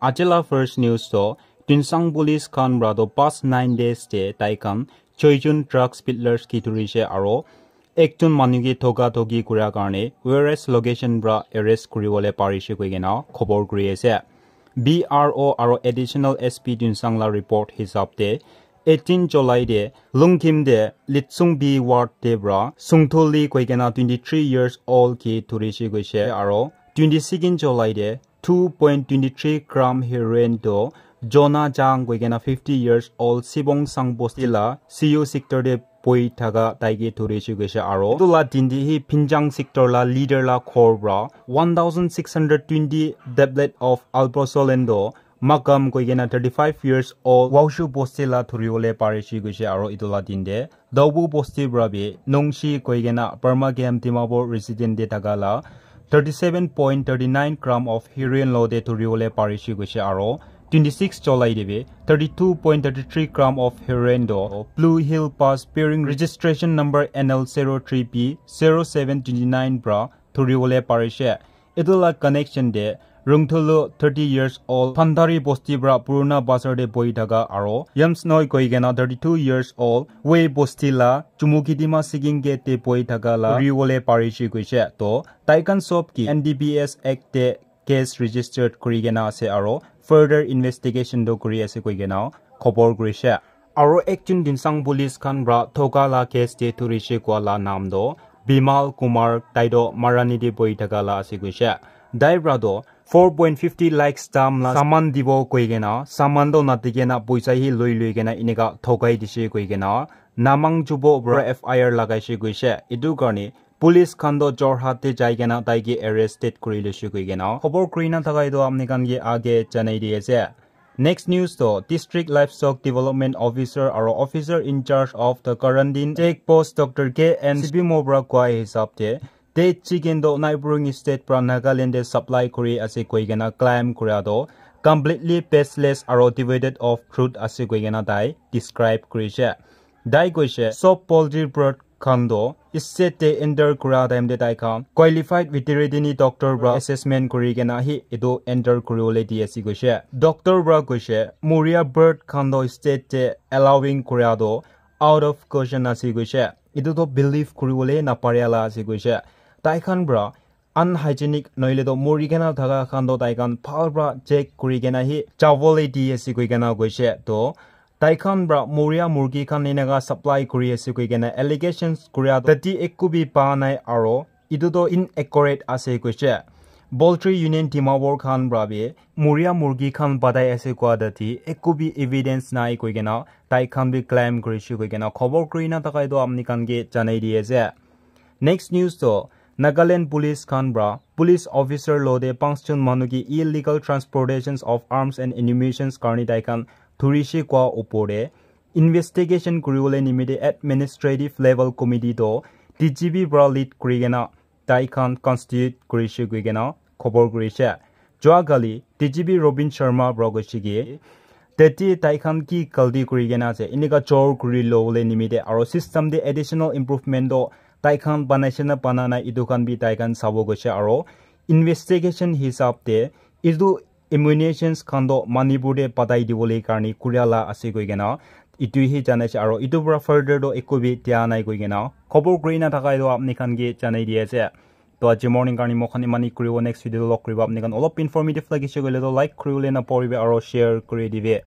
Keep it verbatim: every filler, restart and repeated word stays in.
Ajila first news to Tuensang police khan pra to past nine days te tai khan choi jun drugs peddlers ki dhurishe aro ekjon manu ke thoka thoki kura karne various location pra arrest kuribole parishe koi kena khobor kuri ase. B R O aro additional S P Tuensang la report hisab te eighteen July te Lungkhim te Litsung B ward te pra Sungthuli koi kena twenty three years old ke dhurishe koishe aro twenty second July te two point twenty three gram heroin to Jonah Jang koi kena fifty years old Sibong Sang bosti la C U sector te poi thaka tai ke dhurishe koishe aro etu la din te hi Phinjang sector la leader la ghor pra one thousand six hundred twenty tablet of alprazolam to Makam koi kena thirty five years old Waushu bosti la dhuribole parishe koishe aro etu la din te Daobu bosti pra bi Nongshi koi kena Burma Camp Dimapur resident te thaka la thirty seven point thirty nine gram of heroin lo te dhuribole parishe koishe aro twenty six July te bi thirty two point thirty three gram of heroin to Blue Hill Pass bearing registration number N L zero three P zero seven twenty nine pra dhuribole parishe. Etu la connection te Rungthulu thirty years old Phandari bosti pra Puruna Bazar te bohi thaka aro Yamsnoi koi kena thirty two years old Wei bosti la Chumukedima Siking gate te bohi thaka la dhuribole parishe koishe. To tai khan sob ke N D P S Act te case registered kuri kena ase aro further investigation to kuri ase koi kena khobor kurishe. Aro ekjon Tuensang police khan pra thoka la case te dhurishe koa la naam to Bimal Kumar, tai to Marani te bohi thaka la ase koishe. Tai pra to four point fifty lakhs dam la saman dibo koi kena saman to nadi kena poisa hi loi loi kena eneka thokai dishe koi kena Namang Jubo pra F I R lagaishe koishe. Etu karne police khan to Jorhat te jai kena tai ke arrested kuri loishe koi kena khobor kuri na thaka etu apni khan ke age janai di ase. Next news to District Livestock Development Officer aro Officer in Charge of the Quarantine Check Post Doctor K N Sibimo pra koa hisab te dead chicken to neighboring state pra Nagaland te supply kuri ase koi kena claim kura to completely baseless aro devoid of truth ase koi kena tai describe kurishe. Tai koishe sob poultry bird khan to state te enter kura time te tai khan qualified veterinary doctor pra assessment kuri kena hi etu enter kuribole di ase koishe. Doctor pra koishe muria bird khan to state te allowing kura to out of question ase koishe. Etu to believe kuribole naparia la ase koishe. Tai khan pra unhygienic nohoile to muri kena thaka khan to tai khan bhal pra check kuri kena hi chabole di ase koi kena koishe. To tai khan pra muria murgi khan eneka supply kuri ase koi kena allegations kuria to tati ekku bi pa nai aro etu to inaccurate ase koishe. Poultry Union Dimapur khan pra bi muria murgi khan batai ase koa tati ekku bi evidence nai koi kena tai khan bi claim kurishe koi kena khobor kuri na thaka etu apni khan ke janai di ase. Next news to Nagaland police khan pra police officer lo te panch jon manu ke illegal transportations of arms and ammunitions karne tai khan dhurishe koa upor te investigation kuribole nimite administrative level committee to D G P pra lead kuri kena tai khan constitute kurishe koi kena khobor kurishe. Jua kali D G P Robin Sharma pra koishe ki tete tai khan ki galti kuri kena ase, eneka chor kuri lobole nimite aro system te additional improvement to tai khan banaishe na bana nai, etu khan bi tai khan sabo koishe. Aro investigation hisab te etu ammunitions khan to Manipur te patai dibole karne kuria la ase koi kena etu hi janaishe. Aro etu pra further to ekku bi dia nai koi kena khobor kuri na thaka etu apni khan ke janai di ase. To aji morning karne moi khan imani kuribo, next video log kuribo. Apni khan olop informative lagise koile to like kuribole napahoribe aro share kuri dibe.